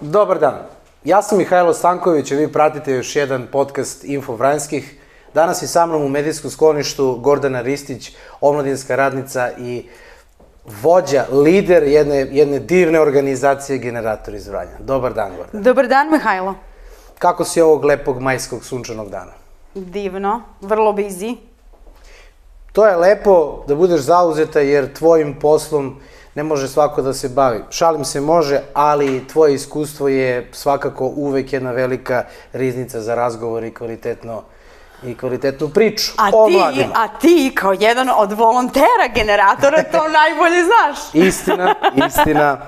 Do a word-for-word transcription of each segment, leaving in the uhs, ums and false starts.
Dobar dan, ja sam Mihajlo Stanković, a vi pratite još jedan podcast Info Vranjskih. Danas je sa mnom u medijskom skloništu Gordana Ristić, omladinska radnica i vođa, lider jedne, jedne divne organizacije Generator iz Vranja. Dobar dan, Gordana. Dobar dan, Mihajlo. Kako si ovog lepog majskog sunčanog dana? Divno, vrlo busy. To je lepo da budeš zauzeta jer tvojim poslom ne može svako da se bavi. Šalim se može, ali tvoje iskustvo je svakako uvek jedna velika riznica za razgovor i kvalitetno i kvalitetnu priču o mladima. A ti, kao jedan od volontera Generatora, to najbolje znaš. Istina, istina.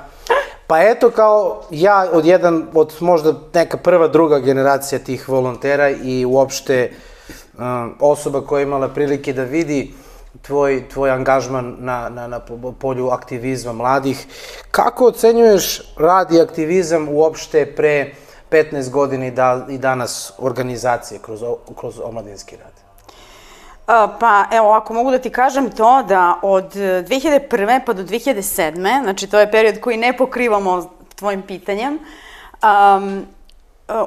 Pa eto, kao ja od jedan, od možda neka prva, druga generacija tih volontera i uopšte um, osoba koja je imala prilike da vidi tvoj, tvoj angažman na, na, na polju aktivizma mladih. Kako ocenjuješ rad i aktivizam uopšte pre petnaest godina i, da, i danas organizacije kroz, kroz omladinski rad? Pa evo, ako mogu da ti kažem to da od dve hiljade prve pa do dve hiljade sedme, znači to je period koji ne pokrivamo tvojim pitanjem, um,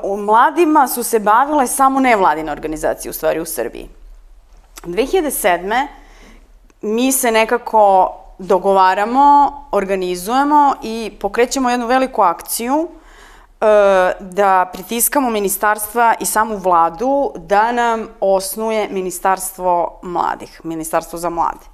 u mladima su se bavile samo nevladine organizacije u stvari u Srbiji. dve hiljade sedme mi se nekako dogovaramo, organizujemo i pokrećemo jednu veliku akciju da pritiskamo ministarstva i samu vladu da nam osnuje Ministarstvo mladih, Ministarstvo za mlade.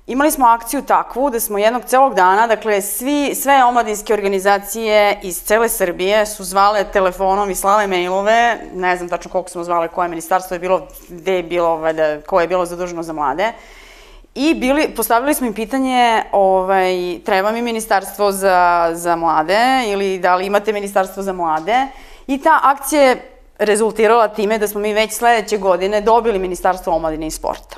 Imali smo akciju takvu da smo jednog celog dana, dakle svi, sve omladinske organizacije iz cele Srbije su zvale telefonom i slale mailove, ne znam tačno koliko smo zvale, koje ministarstvo je bilo, gde je bilo, koje je bilo zaduženo za mlade. I bili, postavili smo im pitanje, ovaj, treba mi ministarstvo za, za mlade ili da li imate ministarstvo za mlade. I ta akcija je rezultirala time da smo mi već sledeće godine dobili Ministarstvo omladine i sporta.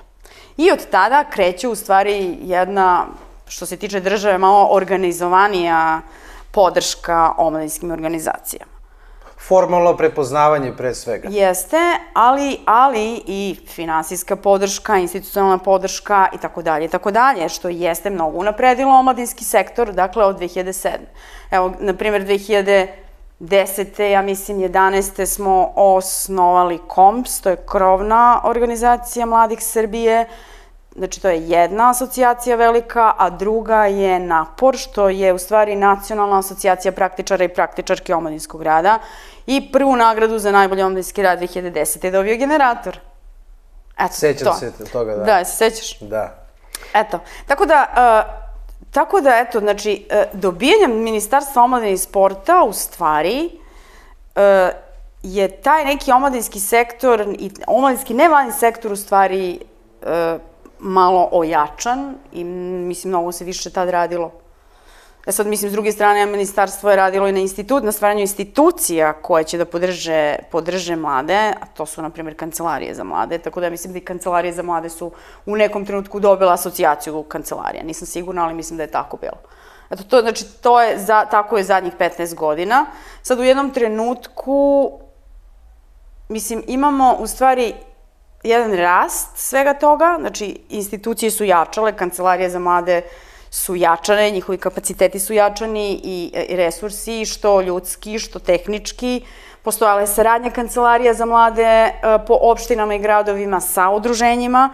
I od tada kreće u stvari jedna, što se tiče države, malo organizovanija podrška omladinskim organizacijama. Formalno prepoznavanje pre svega. Jeste, ali, ali i finansijska podrška, institucionalna podrška i tako dalje i tako dalje, što jeste mnogo unapredilo omladinski sektor, dakle od dve hiljade sedme. Evo, na primjer, dve hiljade desete, ja mislim jedanaeste smo osnovali KOMPS, to je krovna organizacija mladih Srbije, znači to je jedna asocijacija velika, a druga je NAPOR, što je u stvari Nacionalna asocijacija praktičara i praktičarke omladinskog rada. I prvu nagradu za najbolji omladinski rad dve hiljade desete je dobio Generator. Sećam se toga, da. Da, se sećaš? Da. Eto, tako da, tako da, eto, znači, dobijanjem Ministarstva omladine i sporta, u stvari, je taj neki omladinski sektor i omladinski nevladin sektor, u stvari, malo ojačan i mislim mnogo se više tad radilo. Ja sad mislim s druge strane ministarstvo je radilo i na institut, na stvaranju institucija koje će da podrže, podrže mlade, a to su na primjer kancelarije za mlade, tako da ja mislim da i kancelarije za mlade su u nekom trenutku dobila asocijaciju kancelarija. Nisam sigurna, ali mislim da je tako bilo. Eto, to, znači, to je, za, tako je zadnjih petnaest godina. Sad u jednom trenutku, mislim, imamo u stvari jedan rast svega toga, znači institucije su jačale, kancelarije za mlade su jačane, njihovi kapaciteti su jačani i resursi, što ljudski, što tehnički. Postojala je saradnja kancelarija za mlade po opštinama i gradovima sa udruženjima.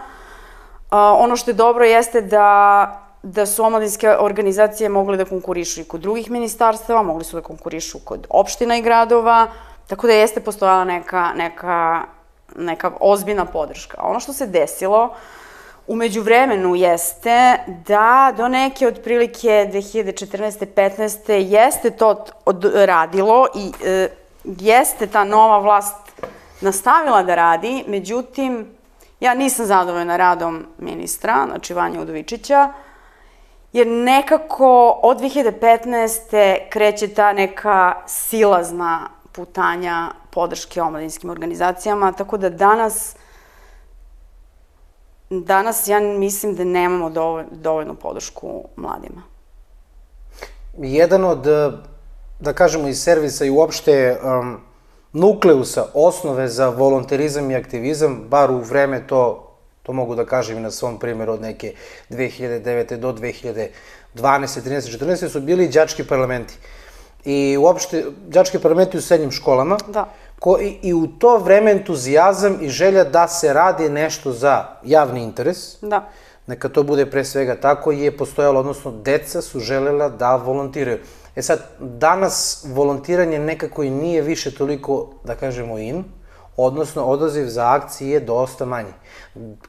Ono što je dobro jeste da, da su omladinske organizacije mogle da konkurišu i kod drugih ministarstava, mogli su da konkurišu kod opština i gradova, tako da jeste postojala neka, neka neka ozbiljna podrška. Ono što se desilo u međuvremenu jeste da do neke otprilike dve hiljade četrnaeste petnaeste jeste to radilo i e, jeste ta nova vlast nastavila da radi, međutim, ja nisam zadovoljna radom ministra, znači Vanje Udovičića, jer nekako od dve hiljade petnaeste kreće ta neka silazna putanja podrške omladinskim organizacijama, tako da danas, danas ja mislim da nemamo dovoljnu podršku mladima. Jedan od, da kažemo, iz servisa i uopšte nukleusa, osnove za volonterizam i aktivizam, bar u vreme to, to mogu da kažem i na svom primjeru od neke dve hiljade devete do dve hiljade dvanaeste, trinaeste, četrnaeste su bili đački parlamenti. i uopšte đački parlamenti u srednjim školama. Da. Ko, i, I u to vreme entuzijazam i želja da se radi nešto za javni interes. Da. Neka to bude pre svega tako, je postojalo, odnosno deca su želela da volontiraju. E sad, danas volontiranje nekako i nije više toliko, da kažemo, in, odnosno odaziv za akcije je dosta manji.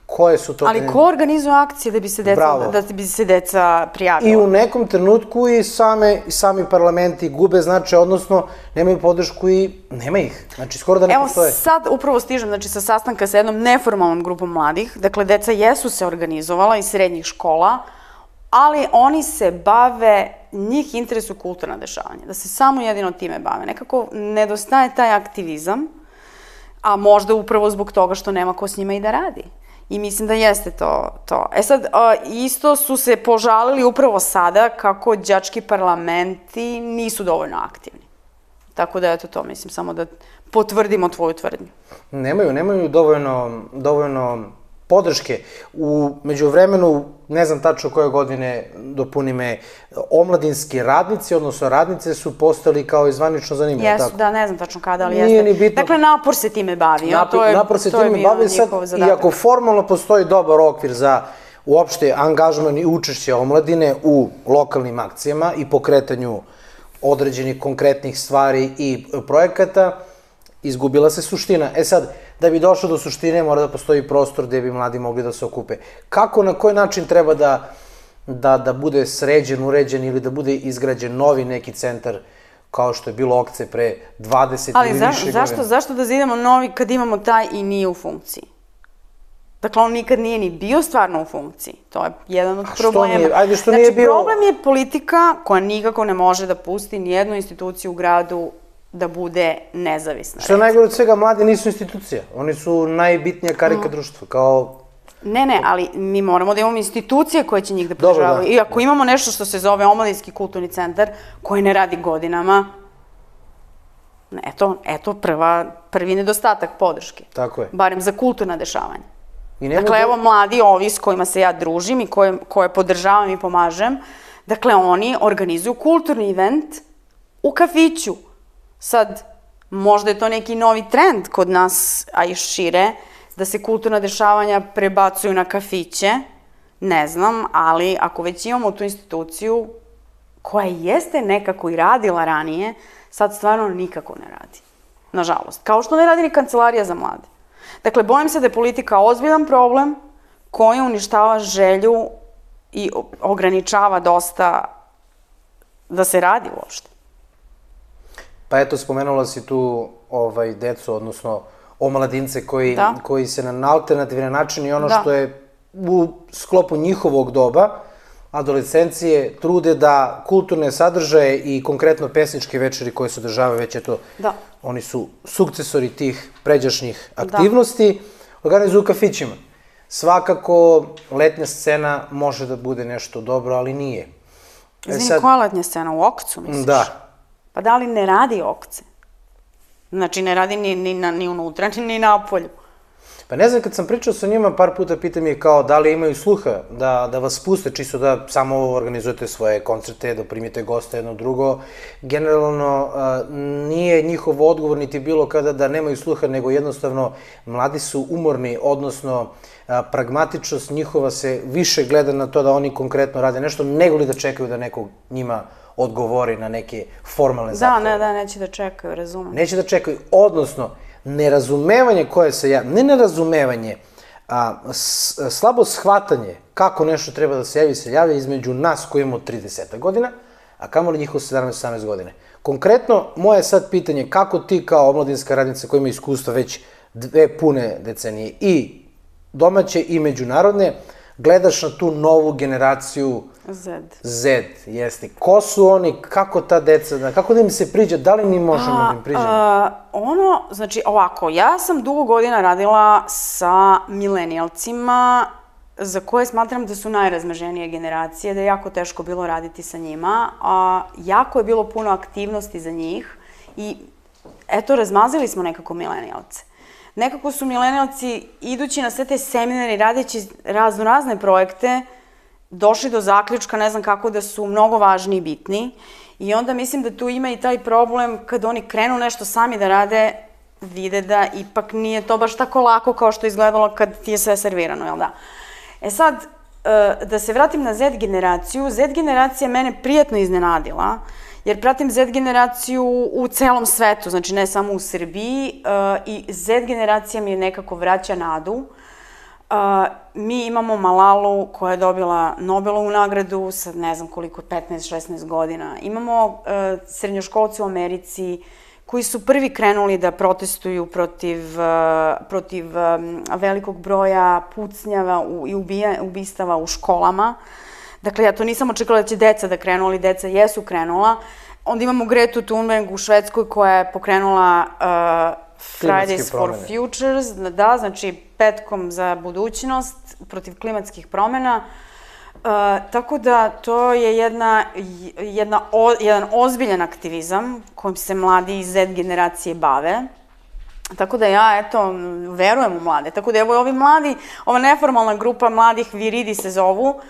Koje su to... Ali ko organizuje akcije da bi se deca, da bi se deca prijavila? I u nekom trenutku i same, sami parlamenti gube značaj, odnosno nemaju podršku i nema ih. Znači, skoro da ne postoje. Evo sad upravo stižem, znači, sa sastanka sa jednom neformalnom grupom mladih. Dakle, deca jesu se organizovala iz srednjih škola, ali oni se bave, njih interesuju kulturna dešavanja, da se samo jedino time bave. Nekako nedostaje taj aktivizam, a možda upravo zbog toga što nema ko s njima i da radi. I mislim da jeste to. to. E sad, isto su se požalili upravo sada kako đački parlamenti nisu dovoljno aktivni. Tako da, eto to, mislim, samo da potvrdimo tvoju tvrdnju. Nemaju, nemaju dovoljno, dovoljno podrške. U međuvremenu, ne znam tačno koje godine, dopuni me, omladinski radnici, odnosno radnice su postali kao i zvanično zanimljivo. Jesu, da, ne znam tačno kada, ali jeste. Nije ni bitno. Dakle, napor se time bavio. Napor se time bavio sad, iako formalno postoji dobar okvir za uopšte angažman i učešće omladine u lokalnim akcijama i pokretanju određenih konkretnih stvari i projekata, izgubila se suština. E sad, da bi došlo do suštine, mora da postoji prostor gde bi mladi mogli da se okupe. Kako, na koji način treba da, da, da bude sređen, uređen ili da bude izgrađen novi neki centar kao što je bilo Okce pre dvadeset ili više godina? Ali zašto, zašto da zidamo novi kad imamo taj i nije u funkciji? Dakle, on nikad nije ni bio stvarno u funkciji. To je jedan od problema. A što nije? Ajde, što nije bio... Znači, problem je politika koja nikako ne može da pusti nijednu instituciju u gradu da bude nezavisna. Što je najgore od svega, mladi nisu institucija. Oni su najbitnija karika društva, kao... Ne, ne, ali mi moramo da imamo institucije koje će njih da podržavaju. I ako imamo nešto što se zove Omladinski kulturni centar, koji ne radi godinama, eto, eto prvi nedostatak podrške. Tako je. Barem za kulturna dešavanja. Dakle, evo mladi ovi s kojima se ja družim i koje podržavam i pomažem, dakle, oni organizuju kulturni event u kafiću. Sad, možda je to neki novi trend kod nas, a i šire, da se kulturna dešavanja prebacuju na kafiće, ne znam, ali ako već imamo tu instituciju koja jeste nekako i radila ranije, sad stvarno nikako ne radi. Nažalost. Kao što ne radi ni kancelarija za mlade. Dakle, bojim se da je politika ozbiljan problem koji uništava želju i ograničava dosta da se radi uopšte. Pa eto, spomenula si tu decu, odnosno omladince koji se na alternativan način i ono što je u sklopu njihovog doba, adolescencije, trude da kulturne sadržaje i konkretno pesničke večeri koje se održavaju već, eto, oni su sukcesori tih pređašnjih aktivnosti, organizuju u kafićima. Svakako, letnja scena može da bude nešto dobro, ali nije. Izvini, koja letnja scena? U Okcu, misliš? Da. Pa da li ne radi Okce? Znači, ne radi ni unutra, ni napolju. Pa ne znam, kad sam pričao sa njima, par puta pitam je kao da li imaju sluha da vas puste, čisto da samo organizujete svoje koncerte, da primite goste jedno drugo. Generalno, nije njihov odgovor niti bilo kada da nemaju sluha, nego jednostavno mladi su umorni, odnosno pragmatičnost njihova se više gleda na to da oni konkretno rade nešto, nego li da čekaju da neko njima odgovori na neke formalne zahteve. Da, ne, da, neće da čekaju, razumem. Neće da čekaju, odnosno, nerazumevanje koje se ja, ne nerazumevanje, slabo shvatanje kako nešto treba da se javi, se javlja između nas koji imamo trideset godina, a kamoli njihovo sedamnaest osamnaest godine. Konkretno, moje sad pitanje, kako ti kao omladinska radnica koja ima iskustva već dve pune decenije i domaće i međunarodne, gledaš na tu novu generaciju Z. Z, jeste. Ko su oni, kako ta deca, kako da im se priđe, da li mi možemo da im priđemo? Ono, znači ovako, ja sam dugo godina radila sa milenijalcima za koje smatram da su najrazmaženije generacije, da je jako teško bilo raditi sa njima, a jako je bilo puno aktivnosti za njih i eto, razmazili smo nekako milenijalce. Nekako su milenijalci, idući na sve te seminare i radeći razno razne projekte, došli do zaključka, ne znam kako, da su mnogo važni i bitni I onda mislim da tu ima i taj problem kad oni krenu nešto sami da rade, vide da ipak nije to baš tako lako kao što je izgledalo kad ti je sve servirano, jel da? E sad, da se vratim na Z generaciju, Z generacija mene prijatno iznenadila, jer pratim Z generaciju u celom svetu, znači ne samo u Srbiji, i Z generacija mi je nekako vraća nadu. Mi imamo Malalu koja je dobila Nobelovu nagradu sa ne znam koliko, petnaest šesnaest godina. Imamo srednjoškolce u Americi koji su prvi krenuli da protestuju protiv, protiv velikog broja pucnjava i ubistava u školama. Dakle, ja to nisam očekala da će deca da krenu, ali deca jesu krenula. Onda imamo Gretu Thunberg u Švedskoj koja je pokrenula Fridays for Futures, da, znači petkom za budućnost protiv klimatskih promena. Tako da to je jedna, jedna, jedan ozbiljan aktivizam kojim se mladi iz Z generacije bave. Tako da ja, eto, verujem u mlade. Tako da evo ovi mladi, ova neformalna grupa mladih Viridi se zovu,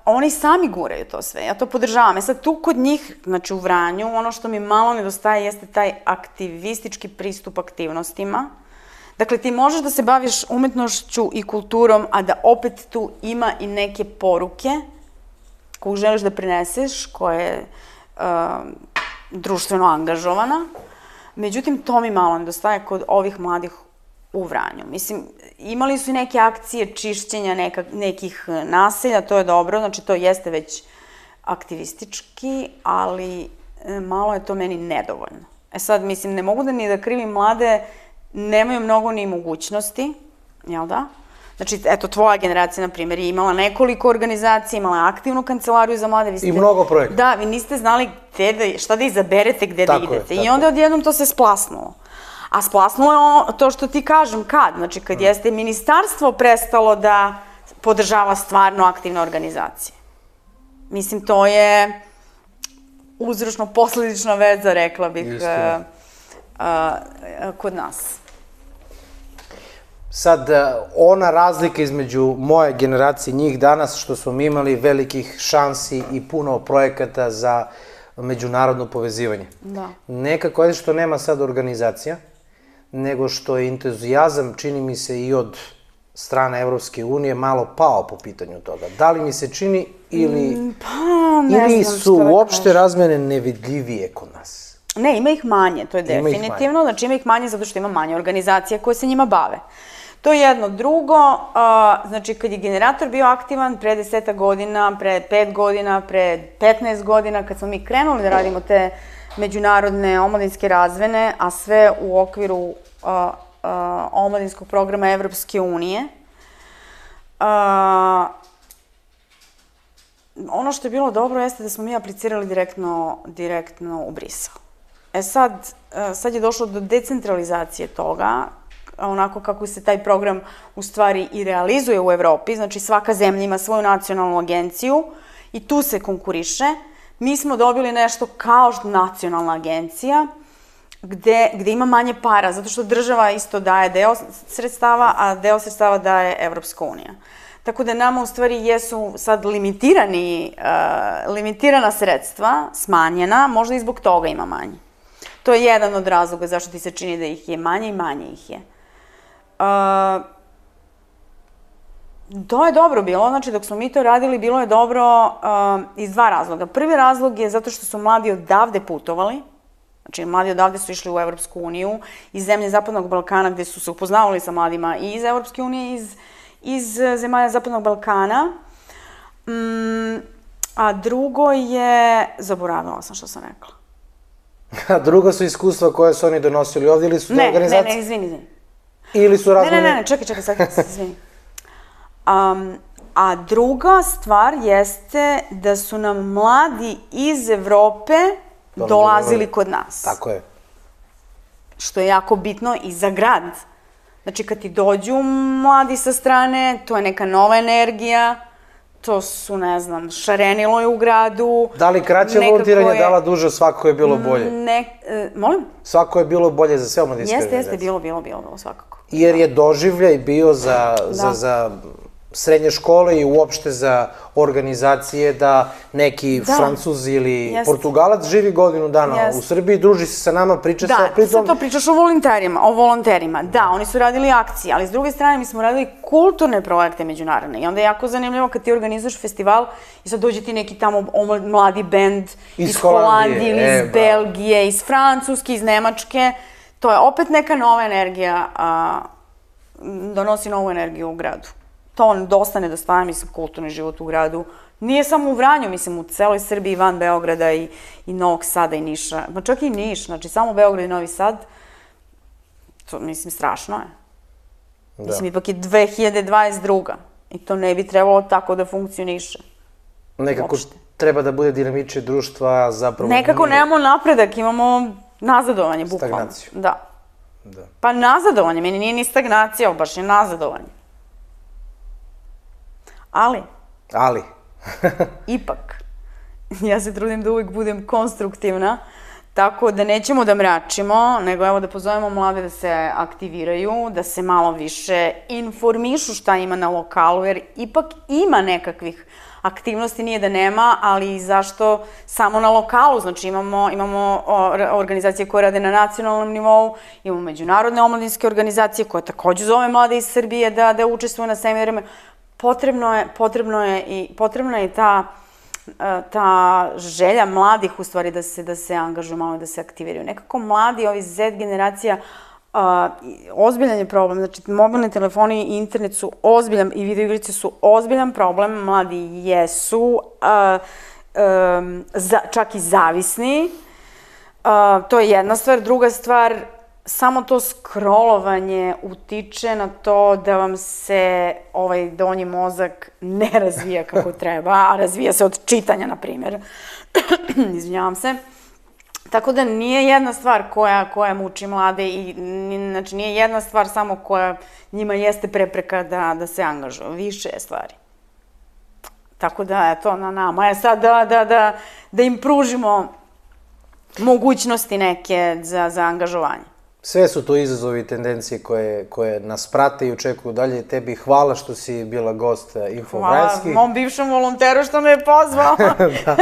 oni sami guraju to sve, ja to podržavam. E sad tu kod njih, znači u Vranju, ono što mi malo nedostaje jeste taj aktivistički pristup aktivnostima. Dakle, ti možeš da se baviš umetnošću i kulturom, a da opet tu ima i neke poruke koju želiš da prineseš, koja je društveno angažovana. Međutim, to mi malo nedostaje kod ovih mladih u Vranju. Mislim, imali su i neke akcije čišćenja nekih naselja, to je dobro, znači to jeste već aktivistički, ali malo je to meni nedovoljno. E sad, mislim, ne mogu da ni da krivim mlade, nemaju mnogo ni mogućnosti, jel da? Znači, eto, tvoja generacija, na primjer, je imala nekoliko organizacija, imala je aktivnu kancelariju za mlade. I mnogo projekta. Da, vi niste znali šta da izaberete, gde da idete. I onda odjednom to se splasnulo. A splasnulo je to što ti kažem, kad? Znači, kad jeste ministarstvo prestalo da podržava stvarno aktivne organizacije. Mislim, to je uzročno-posledična veza, rekla bih, kod nas. Sad, ona razlika između moje generacije i njih danas, što smo mi imali velikih šansi i puno projekata za međunarodno povezivanje. Da. Nekako je što nema sad organizacija, nego što je entuzijazam, čini mi se, i od strane Evropske unije malo pao po pitanju toga. Da li mi se čini ili... Pa, ne znam što da kažem. Ili su uopšte razmene nevidljivije kod nas? Ne, ima ih manje, to je definitivno. Znači ima ih manje zato što ima manje organizacija koje se njima bave. To je jedno. Drugo, znači kad je generator bio aktivan pre deseta godina, pre pet godina, pre petnaest godina, kad smo mi krenuli da radimo te međunarodne omladinske razvene, a sve u okviru omladinskog programa Evropske unije, ono što je bilo dobro jeste da smo mi aplicirali direktno u Brisel. E sad, sad je došlo do decentralizacije toga, onako kako se taj program u stvari i realizuje u Evropi, znači svaka zemlja ima svoju nacionalnu agenciju i tu se konkuriše. Mi smo dobili nešto kao nacionalna agencija, gde ima manje para, zato što država isto daje deo sredstava, a deo sredstava daje Evropska unija. Tako da nama u stvari jesu sad limitirana sredstva, smanjena, možda i zbog toga ima manje. To je jedan od razloga zašto ti se čini da ih je manje i manje ih je. To je dobro bilo, znači dok smo mi to radili bilo je dobro iz dva razloga. Prvi razlog je zato što su mladi odavde putovali, znači mladi odavde su išli u Evropsku uniju, iz zemlje Zapadnog Balkana gde su se upoznavali sa mladima i iz Evropske unije i iz zemalja Zapadnog Balkana. A drugo je, zaboravila sam što sam rekla. A drugo su iskustva koje su oni donosili ovdje ili su to organizacije? Ne, ne, ne, izvini, izvini. Ili su razmene... Ne, ne, ne, čekaj, čekaj, sad se izvini. A druga stvar jeste da su nam mladi iz Evrope dolazili kod nas. Tako je. Što je jako bitno i za grad. Znači, kad ti dođu mladi sa strane, to je neka nova energija, to su, ne znam, šarenilo je u gradu. Da li kraće volontiranje dala duže, svako je bilo bolje? Molim? Svako je bilo bolje za sve omladinske organizacije. Jeste, jeste, bilo, bilo, bilo, svakako. Jer je doživljaj bio za srednje škole i uopšte za organizacije da neki Da. Francuz ili Jeste. Portugalac živi godinu dana Jeste. u Srbiji, druži se sa nama, priča sa Da, pritom... sad to pričaš o volonterima, o volonterima. Da, oni su radili akcije, ali s druge strane mi smo radili kulturne projekte međunarodne. I onda je jako zanimljivo kad ti organizuješ festival i sad dođe ti neki tamo omla- mladi bend Iz iz Holandije, Holandije ili e, iz bravo. Belgije, iz Francuske, iz Nemačke. To je opet neka nova energija, a, donosi novu energiju u gradu. To dosta nedostaje, mislim, kulturni život u gradu. Nije samo u Vranju, mislim, u celoj Srbiji, van Beograda i, i Novog Sada i Niša. Ma čak i Niš, znači samo Beograd i Novi Sad, to, mislim, strašno je. Da. Mislim, ipak je dve hiljade dvadeset druga i to ne bi trebalo tako da funkcioniše. Nekako Uopšte. treba da bude dinamičnije društva, a zapravo... Nekako nije. nemamo napredak, imamo nazadovanje, bukvalno. Stagnaciju. Da. Da. Pa nazadovanje, meni nije ni stagnacija, ovo baš je nazadovanje. Ali, Ali, ipak, ja se trudim da uvijek budem konstruktivna, tako da nećemo da mračimo, nego evo da pozovemo mlade da se aktiviraju, da se malo više informišu šta ima na lokalu, jer ipak ima nekakvih aktivnosti, nije da nema, ali zašto samo na lokalu, znači imamo, imamo o, organizacije koje rade na nacionalnom nivou, imamo međunarodne omladinske organizacije koje takođe zove mlade iz Srbije da, da učestvuju na seminarima. Potrebno je, potrebno je i potrebna je ta, ta želja mladih u stvari da se, da se angažuju malo, da se aktiviraju. Nekako mladi, ovi Z generacija, a, ozbiljan je problem, znači mobilni telefoni i internet su ozbiljan, i videoigrice su ozbiljan problem, mladi jesu, a, a, za, čak i zavisni, a, to je jedna stvar. Druga stvar, samo to scrollovanje utiče na to da vam se ovaj donji mozak ne razvija kako treba, a razvija se od čitanja, na primjer. Izvinjavam se. Tako da nije jedna stvar koja, koja muči mlade i znači nije jedna stvar samo koja njima jeste prepreka da, da se angažuju. Više je stvari. Tako da, eto, na nama je sad da, da, da, da im pružimo mogućnosti neke za, za angažovanje. sve su to izazovi i tendencije koje, koje nas prate i očekuju dalje. Tebi hvala što si bila gost Info Vranjski. Hvala mom bivšem volonteru što me je pozvao. Da.